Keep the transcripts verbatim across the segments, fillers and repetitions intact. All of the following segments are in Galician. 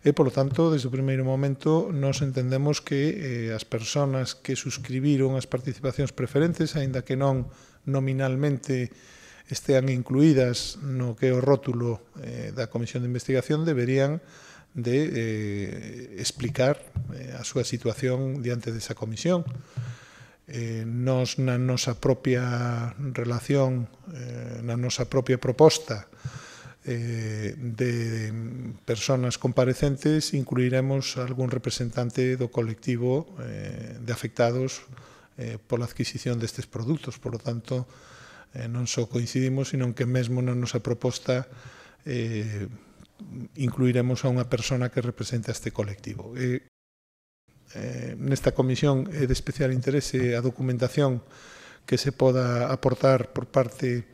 E, polo tanto, desde o primeiro momento, nos entendemos que eh, as persoas que suscribiron as participacións preferentes, aínda que non nominalmente estean incluídas no que é o rótulo eh, da Comisión de Investigación, deberían de eh, explicar eh, a súa situación diante desa comisión. Eh, nos, na nosa propia relación, eh, na nosa propia proposta eh, de persoas comparecentes, incluiremos algún representante do colectivo eh, de afectados eh, pola adquisición destes produtos. Por lo tanto, eh, non só coincidimos, sino que mesmo na nosa proposta eh, incluiremos a unha persona que represente a este colectivo. E, eh, nesta comisión é de especial interese a documentación que se poda aportar por parte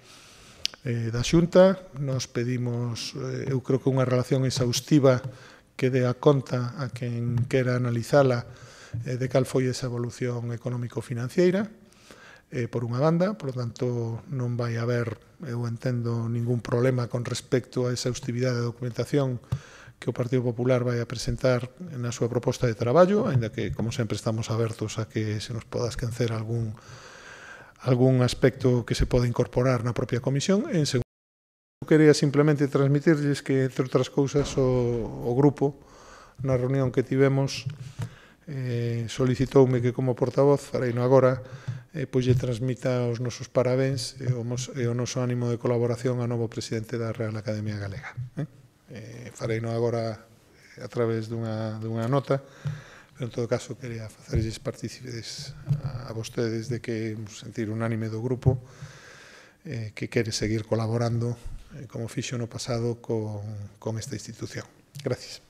eh, da Xunta. Nos pedimos, eh, eu creo que unha relación exhaustiva que dé a conta a quen quera analizala eh, de cal foi esa evolución económico-financiera, eh, por unha banda. Por lo tanto, non vai haber, eu entendo, ningún problema con respecto a esa exhaustividade da documentación que o Partido Popular vai a presentar na súa proposta de traballo, aínda que, como sempre, estamos abertos a que se nos poda esquecer algún, algún aspecto que se poda incorporar na propia comisión. En segundo, quería simplemente transmitirles que, entre outras cousas, o, o grupo, na reunión que tivemos, eh, solicitoume que, como portavoz, fareino agora, eh, pois lle transmita os nosos parabéns e o, e o noso ánimo de colaboración ao novo presidente da Real Academia Galega. Eh? Eh, fareino agora a través dunha, dunha nota, pero en todo caso quería facerlles partícipes a, a vostedes de que sentir unánime do grupo eh, que quere seguir colaborando eh, como fixo no pasado con, con esta institución. Gracias.